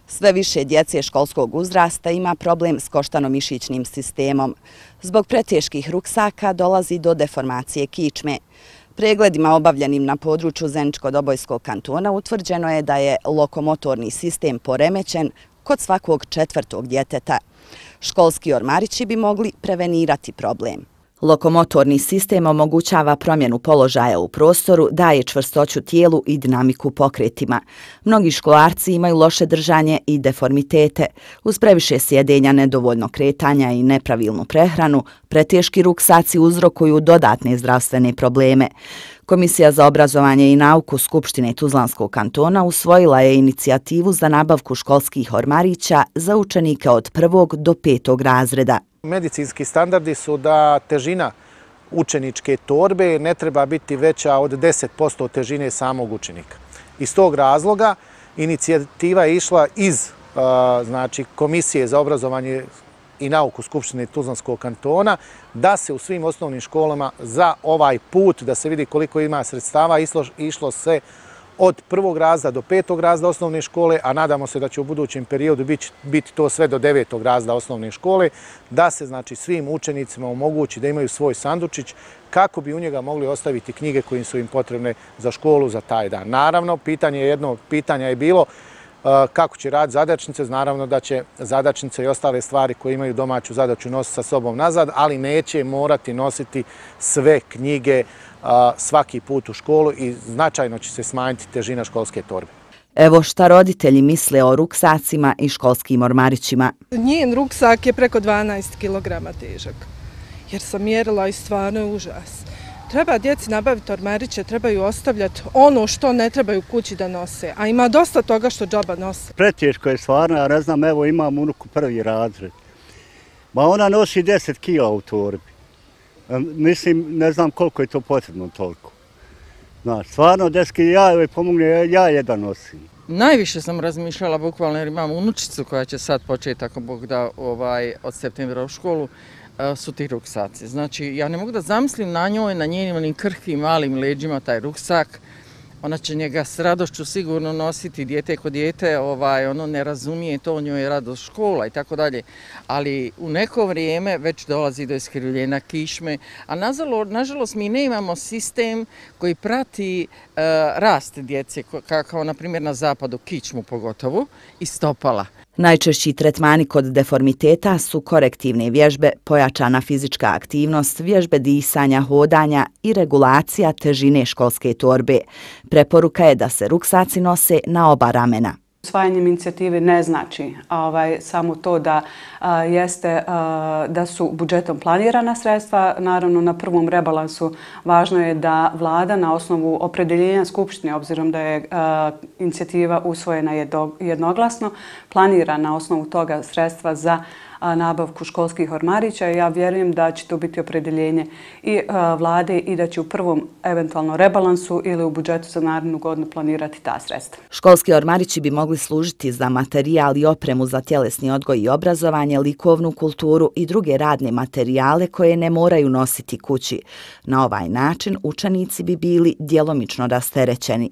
Sve više djece školskog uzrasta ima problem s koštano-mišićnim sistemom. Zbog preteških ruksaka dolazi do deformacije kičme. Pregledima obavljenim na području Zeničko-Dobojskog kantona utvrđeno je da je lokomotorni sistem poremećen kod svakog četvrtog djeteta. Školski ormarići bi mogli prevenirati problem. Lokomotorni sistem omogućava promjenu položaja u prostoru, daje čvrstoću tijelu i dinamiku pokretima. Mnogi školarci imaju loše držanje i deformitete. Uz previše sjedenja, nedovoljno kretanja i nepravilnu prehranu, preteški ruksaci uzrokuju dodatne zdravstvene probleme. Komisija za obrazovanje i nauku Skupštine Tuzlanskog kantona usvojila je inicijativu za nabavku školskih ormarića za učenike od 1. do 5. razreda. Medicinski standardi su da težina učeničke torbe ne treba biti veća od 10% težine samog učenika. Iz tog razloga inicijativa je išla iz Komisije za obrazovanje i nauku Skupštine Tuzlanskog kantona da se u svim osnovnim školama za ovaj put, da se vidi koliko ima sredstava, išlo se od 1. razreda do 5. razreda osnovne škole, a nadamo se da će u budućem periodu biti to sve do 9. razreda osnovne škole, da se svim učenicima omogući da imaju svoj sandučić kako bi u njega mogli ostaviti knjige koje su im potrebne za školu za taj dan. Naravno, jedno pitanje je bilo kako će raditi zadačnice. Naravno da će zadačnice i ostale stvari koje imaju domaću zadaću nositi sa sobom nazad, ali neće morati nositi sve knjige svaki put u školu i značajno će se smanjiti težina školske torbe. Evo šta roditelji misle o ruksacima i školskim ormarićima. Njen ruksak je preko 12 kg težak, jer sam mjerila i stvarno je užas. Treba djeci nabaviti ormariće, trebaju ostavljati ono što ne trebaju kući da nose, a ima dosta toga što džaba nose. Preteško je stvarno, ja ne znam, evo imam unuku 1. razred. Ma ona nosi 10 kila u torbi. Mislim, ne znam koliko je to potrebno toliko. Znaš, stvarno 10 kila, ja joj pomogne, ja jedan nosim. Najviše sam razmišljala bukvalno jer imam unučicu koja će sad početi, ako Bog da, od septembra u školu, su ti ruksaci. Znači, ja ne mogu da zamislim na njoj, na njenim krhkim malim leđima taj ruksak. Ona će njega s radošću sigurno nositi, dijete ko dijete, ono ne razumije to, njoj je radost škola i tako dalje. Ali u neko vrijeme već dolazi do iskrivljenja kičme, a nažalost mi ne imamo sistem koji prati rast djece, kao na primjer na zapadu, kičmu pogotovo, i stopala. Najčešći tretmani kod deformiteta su korektivne vježbe, pojačana fizička aktivnost, vježbe disanja, hodanja i regulacija težine školske torbe. Preporuka je da se ruksaci nose na oba ramena. Usvajanjem inicijative ne znači samo to da su budžetom planirana sredstva. Naravno, na prvom rebalansu važno je da vlada na osnovu opredeljenja Skupštine, obzirom da je inicijativa usvojena jednoglasno, planira na osnovu toga sredstva za nabavku školskih ormarića. Ja vjerujem da će to biti opredeljenje i vlade i da će u prvom eventualno rebalansu ili u budžetu za narednu godinu planirati ta sredstva. Školski ormarići bi mogli služiti za materijal i opremu za tjelesni odgoj i obrazovanje, likovnu kulturu i druge radne materijale koje ne moraju nositi kući. Na ovaj način učenici bi bili djelomično rasterećeni.